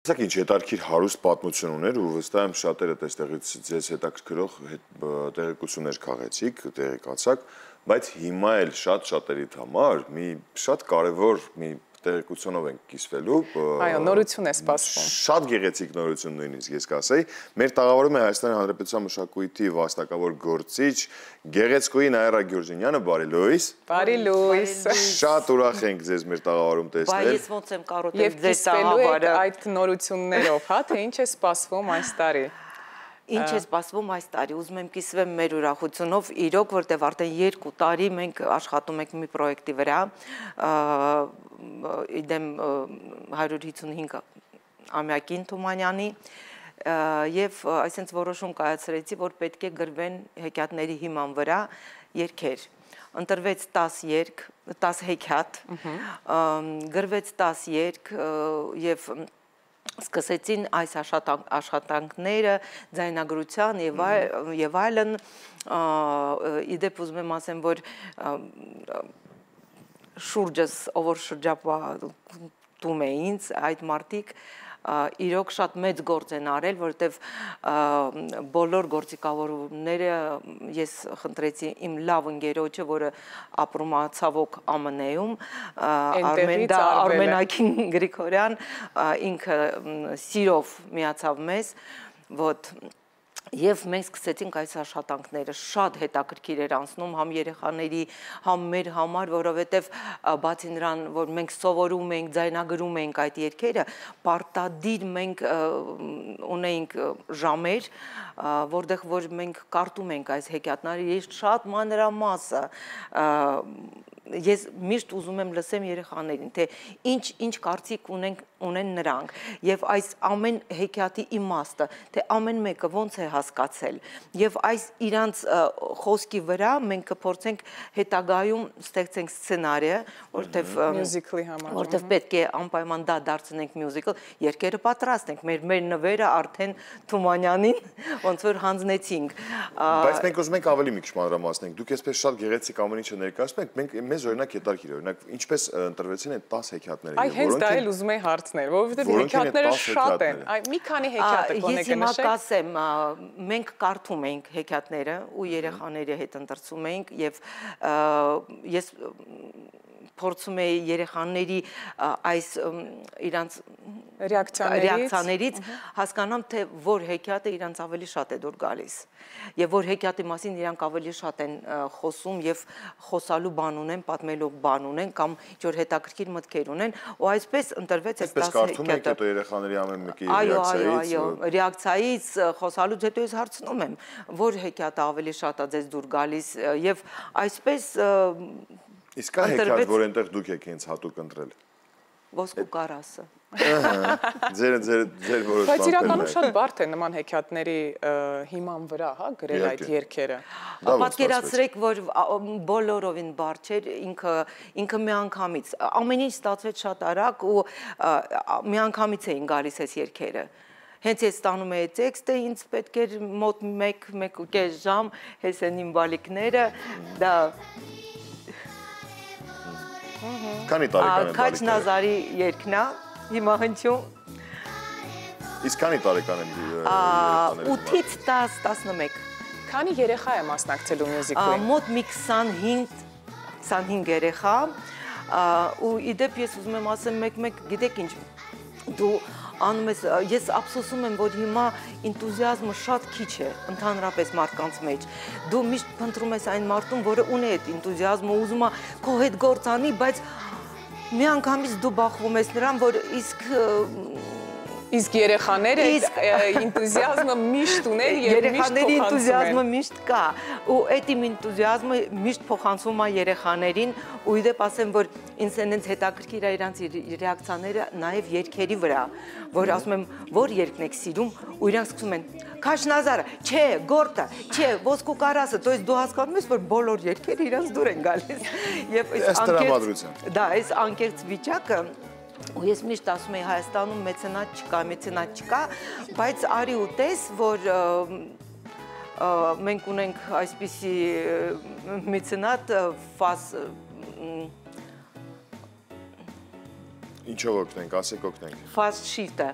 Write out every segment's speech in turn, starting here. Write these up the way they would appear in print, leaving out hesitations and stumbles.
Սա ինչ հետարքիր հարուստ պատմություն ուներ ու վստահ եմ շատերը այստեղից ձեզ հետաքրքրող տեղեկություններ քաղեցիք, տեղեկացաք, բայց հիմա էլ շատերիդ համար մի շատ կարևոր մի տեղեկությունով ենք կիսվելու։ Այո, նորություն է սպասվում։ Շատ գեղեցիկ նորություն նույնիսկ ես կասեի։ Մեր տաղավարում է Հայաստանի Հանրապետության մշակույթի վաստակավոր գործիչ Գեղեցկուհի Նաիրա Գյուրջինյանը, բարի լույս։ Բարի լույս։ Շատ ուրախ ենք ձեզ մեր տաղավարում տեսնել։ Բայց ես ոնց եմ կարոտել ձեր տաղավարը այդ նորություններով, հա, թե ինչ է սպասվում այս տարի։ Ինչ է սպասվում այս տարի, ուզում եմ կիսվեմ մեր ուրախությունով, իրոք, որտեղ արդեն 2 տարի մենք աշխատում ենք մի պրոյեկտի վրա, իդեմ 155 ամյակին Թումանյանի, և այսինքն որոշում կայացրեցի, որ պետք է գրվեն հեքիաթների հիման վրա երգեր։ Ընտրվեց 10 հեքիաթ, գրվեց 10 երգ և սկսեցին այս աշխատանքները ձայնագրության և այլն, իդեպ ուզում եմ ասեմ, որ շուրջս, ով որ շրջապատում է ինձ, այդ մարդիկ իրոք շատ մեծ գործ են արել, որովհետև բոլոր գործիքավորումները ես խնդրեցի իմ լավ ընկերոջը, որը ապրում է ցավոք ԱՄՆ-ում, Արմենակ Գրիգորյան, ինքը սիրով միացավ մեզ, և մենք սկսեցինք այս աշխատանքները, շատ հետաքրքիր էր անցնում համ երեխաների, համ մեր համար, որովհետև բացի նրան, որ մենք սովորում ենք, ձայնագրում ենք այդ երգերը, պարտադիր մենք ունեինք ժամեր, որտեղ որ մենք կարդում ենք այս հեքիաթները, ես շատ մանրամասը, ես միշտ ուզում եմ լսեմ երեխաներին, թե ինչ կարծիք ունեն նրանք, և այս ամեն հեքիաթի իմաստը, թե ամեն մեկը ոնց է հասկացել, և այս իրանց խոսքի վրա մենք կփորձենք հետագայում ստեղծենք սցենարը, որտև պետք է անպայման դա դարձնենք մյուզիկլ, երգերը պատրաստ ենք, մեր նվերը արդեն Թումանյանին ոնց որ հանձնեցինք։ Բայց մենք ուզում ենք ավելի մի քիչ մանրամասնենք, դուք այսպես շատ գեղեցիկ ամեն ինչը ներկայացնում եք, մեզ օրինակ հետարքիր, օրինակ ինչպես ընտրվեցին այդ 10 հեքիաթները։ Այ հենց դա էլ ուզում էի հարցնել, որովհետև հեքիաթները շատ են, մի քանի հեքիաթ եք ես հիմա կասեմ, մենք կարդում ենք հեքիաթները ու երեխաների հետ ընտրցում ենք և ես փորձում էի երեխաների այս իրանց ռեակցիաներից հասկանամ, թե որ հեքիաթը իրանց ավելի շատ է դուր գալիս և որ հեքիաթի մասին իրանք ավելի շատ են խոսում և խոսալու բան ունեն, պատմելու բան ունեն կամ ինչ-որ հետաքրքիր մտքեր ունեն ու այսպես ընտրվեց այս 10 հեքիաթը։ Այսպես կարդում եք հետո երեխաների ամեն մեկի ռեակցիայից խոսալուց հետո ես հարցնում եմ, որ հեքիաթը ավելի շատ է ձեզ դուր գալիս և այսպես Իսկ կա հեքիաթ, որ այնտեղ դուք եք հենց հատուկ ընտրել։ Ոսկու կարասը։ Ձեր որոշ Բայց իրականում շատ բարդ է նման հեքիաթների հիման վրա, հա, գրել այդ երգերը։ Պատկերացրեք, որ բոլորովին բարդ չէր, ինքը միանգամից, ամեն ինչ ստացվեց շատ արագ ու միանգամից էին գալիս այս երգերը։ Հենց ես ստանում էի տեքստը, ինձ պետք էր մոտ 1-1.5 ժամ հեսեն իմ բալիկները, դա Քանի տարեկան են Քաչ Նազարի երգն է, հիմա հնչում։ Իսկ քանի տարեկան են երեխաները։ 8-ից 10-11։ Քանի երեխա է մասնակցելու մյուզիկլին։ Մոտ մի 25 երեխա, ու իդեպ ես ուզում եմ ասեմ մեկ-մեկ, գիտեք ինչ, դու անում ես, ես ափսոսում եմ, որ հիմա ինտուզիազմը շատ քիչ է, ընդհանրապես մարդկանց մեջ։ Դու միշտ փնտրում ես այն մարդուն, որը ունի այդ ինտուզիազմը, ուզում է քո հետ գործ անի, բայց միանգամից դու բախվում ես նրան, որ Իսկ երեխաները ինտուզիազմը միշտ ունեն և միշտ փոխանցում են։ Երեխաների ինտուզիազմը միշտ կա, ու այդ իմ ինտուզիազմը միշտ փոխանցվում է երեխաներին, ու իդեպ ասեմ, որ ինձ այնց հետաքրքիր է իրանց ռեակցիաները նաև երգերի վրա, որ ասում եմ, որ երգն եք սիրում, ու իրանք սկսում են, Քաչ Նազարը, չէ, Գորտը, չէ, Ոսկու կարասը, то есть դու հասկանում ես, որ բոլոր երգերը իրանց դուր են գալիս։ Այս անկեղծ վիճակը ու ես միշտ ասում եի Հայաստանում մեծենատ չկա, բայց արի ու տես, որ մենք ունենք այսպիսի մեծենատ Ինչով օգնենք, ասեք օգնենք։ Fast Shift-ը,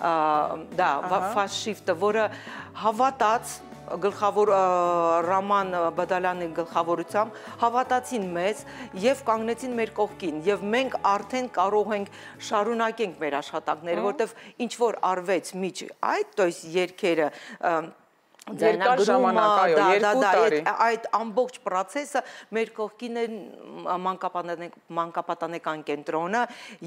դա fast shift-ը, որը հավատաց գլխավոր Ռաման Բադալյանի գլխավորությամբ հավատացին մեզ եւ կանգնեցին մեր կողքին եւ մենք արդեն կարող ենք շարունակենք մեր աշխատանքները, որտեվ ինչ որ արվեց միջ այդ, то есть երգերը երկար ժամանակ, այո, 2 տարի այդ ամբողջ process-ը մեր կողքին է մանկապատանեկան կենտրոնը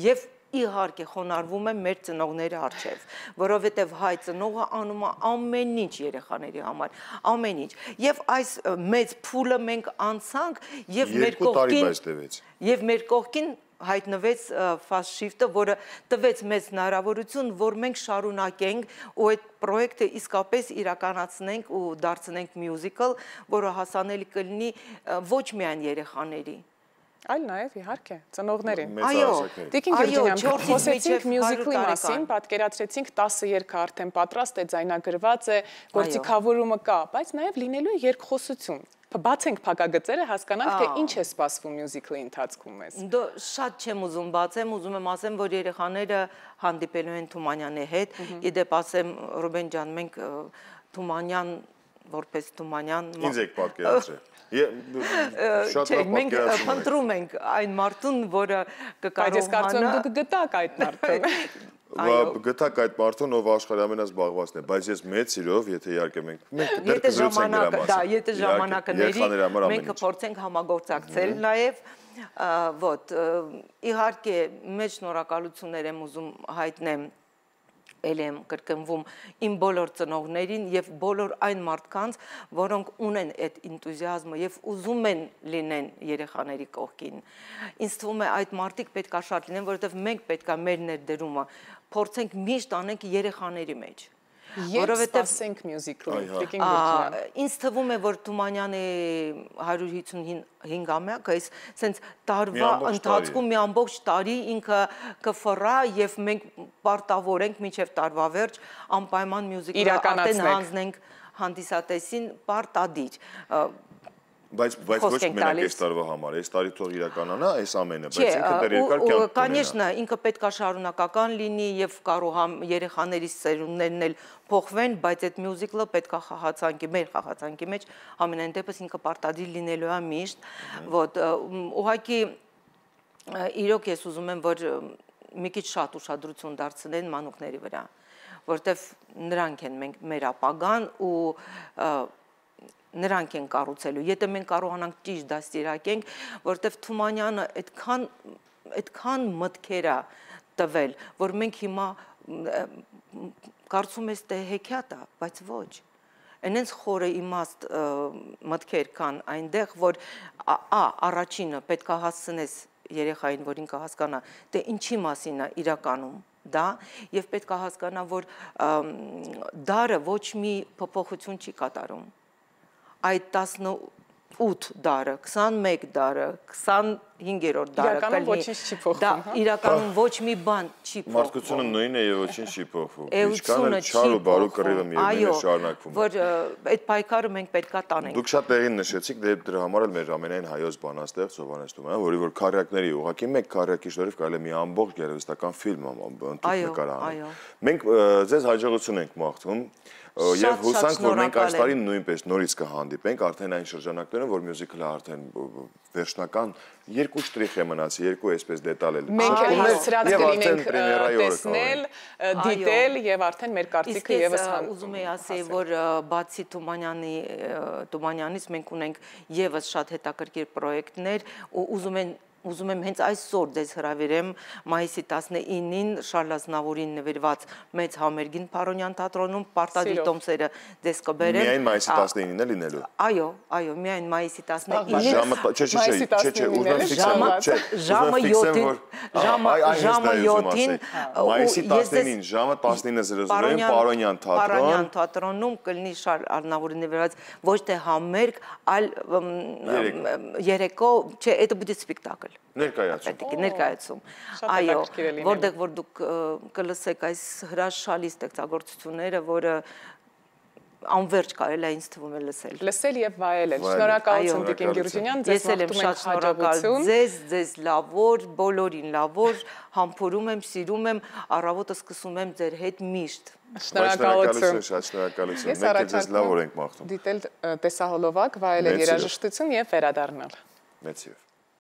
եւ իհարկե խոնարհվում է մեր ծնողների առջև, որովհետև հայ ծնողը անում է ամեն ինչ երեխաների համար, ամեն ինչ։ Եվ այս մեծ փուլը մենք անցանք եւ մեր կողքին հայտնվեց fast shift-ը, որը տվեց մեզ հնարավորություն, որ մենք շարունակենք ու այդ պրոյեկտը իսկապես իրականացնենք ու դարձնենք musical, որը հասանելի կլինի ոչ միայն երեխաների, այլ նաև իհարկե ծնողներին։ Այո, Տիկին Գյուրջինյան, խոսեցինք մյուզիկլի մասին, պատկերացրեցինք 10 երգը արդեն պատրաստ է, ձայնագրված է, գործիքավորումը կա, բայց նաև լինելու է երկխոսություն։ Բացենք փակագծերը, հասկանանք, թե ինչ է սպասվում մյուզիկլի ընթացքում մեզ։ Շատ չեմ ուզում բացեմ, ուզում եմ ասեմ, որ երեխաները հանդիպելու են Թումանյանի հետ, իդեպ ասեմ, Ռուբեն ջան, մենք Թումանյան, որպես Թումանյան Ինձ եք պատկերացրել։ Շատ լավ մենք փնտրում ենք այն մարդուն, որը կկարողանա։ Բայց ես կարծում եմ դուք գտաք այդ մարդուն։ Գտակ այդ մարդուն, ով աշխարհի ամենազբաղվածն է, բայց ես մեծ սիրով, եթե իհարկե մենք եթե ժամանակների մենք կփորձենք համագործակցել նաև, իհարկե մեծ շնորհակալություններ եմ ուզում հայտնեմ էլ եմ կրկնվում իմ բոլոր ծնողներին եւ բոլոր այն մարդկանց, որոնք ունեն այդ ինտուզիազմը եւ ուզում են լինեն երեխաների կողքին։ Ինձ թվում է այդ մարդիկ պետք է շատ լինեն, որովհետեւ մենք պետք է մեր ներդրումը փորձենք միշտ անենք երեխաների մեջ։ Որովհետև ասենք մյուզիկլի, Տիկին Գյուրջինյան։ Ինձ թվում է, որ Թումանյանի 155-ամյակը այս սենց տարվա ընթացքում մի ամբողջ տարի ինքը կֆռա եւ մենք պարտավոր ենք մինչեւ տարվա վերջ անպայման մյուզիկլը արդեն հանձնենք հանդիսատեսին պարտադիր։ Բայց ոչ մենակ այս տարվա համար, այս տարի թող իրականանա այս ամենը, բայց ինքը դեռ երկար կյանք ունենա։ Конечно, ինքը պետք է շարունակական լինի եւ կարող է երեխաների սերունդներն էլ փոխվեն, բայց այդ մյուզիկլը պետք է խաղացանկի, մեր խաղացանկի մեջ ամենայն դեպս ինքը պարտադիր լինելու է միշտ, ոտ ուղղակի իրոք ես ուզում եմ, որ մի քիչ շատ ուշադրություն դարձնեն մանուկների վրա, որտեվ նրանք են մեր ապագան ու նրանք են կառուցելու, եթե մենք կարողանանք ճիշտ դաստիարակենք, որտեվ Թումանյանը այդքան մտքեր է տվել, որ մենք հիմա կարծում ես թե հեքիաթ է, բայց ոչ։ Այնենց խորը իմաստ մտքեր կան այնտեղ, որ առաջինը պետք է հասցնես երեխային, որ ինքը հասկանա, թե ինչի մասին է իրականում դա, եւ պետք է հասկանա, որ դարը ոչ մի փոփոխություն չի կատարում։ Այդ 18 դարը, 21 դարը, 25-րդ դարը իրականում ոչինչ չի փոխվում, հա։ Իրականում ոչ մի բան չի փոխվում։ Մարդկությունը նույնն է եւ ոչինչ չի փոխվում։ Ինչքան էլ չար ու բարու կռիվը միևնույն է շարունակվում։ Որ այդ պայքարը մենք պետքա տանենք։ Դուք շատ տեղին նշեցիք, դրա համար էլ մեր ամենայն հայոց բանաստեղծ Հովհաննես Թումանյանը, որի որ քարյակների ուղղակի մեկ քարյակի շնորհիվ կարելի է մի ամբողջ գեղարվեստական ֆիլմ ընդհանուր նկարահանել։ Մենք ձեզ հաջողություն ենք մաղթում Եվ հուսանք, որ մենք այս տարի նույնպես նորից կհանդիպենք, արդեն այն շրջանակներում, որ մյուզիկլը արդեն վերջնական երկու շտրիխ է մնացի, երկու այսպես դետալ էլ։ Մենք էլ հասցրած կլինենք տեսնել, դիտել եւ արդեն մեր կարծիքը եւս հանդիպել։ Ուզում եի ասել, որ բացի Թումանյանից մենք ունենք եւս շատ հետաքրքիր պրոյեկտներ ու ուզում եմ հենց այսօր ձեզ հրավիրեմ մայիսի 19-ին Շարլ Ազնավուրին նվիրված մեծ համերգին Փարոնյան թատրոնում պարտադիր տոմսերը ձեզ կբերեմ։ Միայն մայիսի 19-ին է լինելու։ Այո, միայն մայիսի 19-ին։ Ժամը 7-ին մայիսի 19-ին ժամը 19:00 Փարոնյան թատրոնում կլինի Շարլ Ազնավուրին նվիրված ոչ թե համերգ, այլ երեկո, չէ, это будет спектакль։ Ներկայացում։ Այո, որտեղ որ դուք կլսեք այս հրաշալի ստեղծագործությունները, որը անverջ կարելի է ինձ թվում է լսել։ Լսել եւ վայելել։ Շնորհակալություն Տիկին Գյուրջինյան, ձեզ մաղթում ենք հաջողություն։ Ձեզ լավ օր, բոլորին լավ օր, համբուրում եմ, սիրում եմ, առավոտը սկսում եմ ձեր հետ միշտ։ Շնորհակալություն։ Շատ շնորհակալություն։ Մենք ձեզ լավ օր ենք մաղթում։ Դիտել տեսահոլովակ, վայելել երաժշտություն եւ վերադառնալ։ Մեծ սիրով։